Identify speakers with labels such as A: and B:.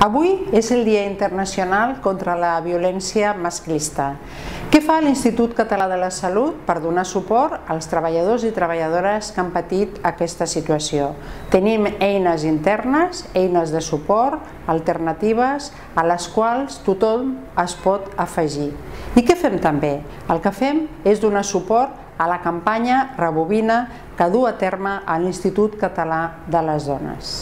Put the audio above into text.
A: Avui és el Dia Internacional contra la Violència Masclista. Què fa l'Institut Català de la Salut per donar suport als treballadors i treballadores que han patit aquesta situació? Tenim eines internes, eines de suport, alternatives, a les quals tothom es pot afegir. I què fem també? El que fem és donar suport a la campanya Rebobina que du a terme l'Institut Català de les Dones.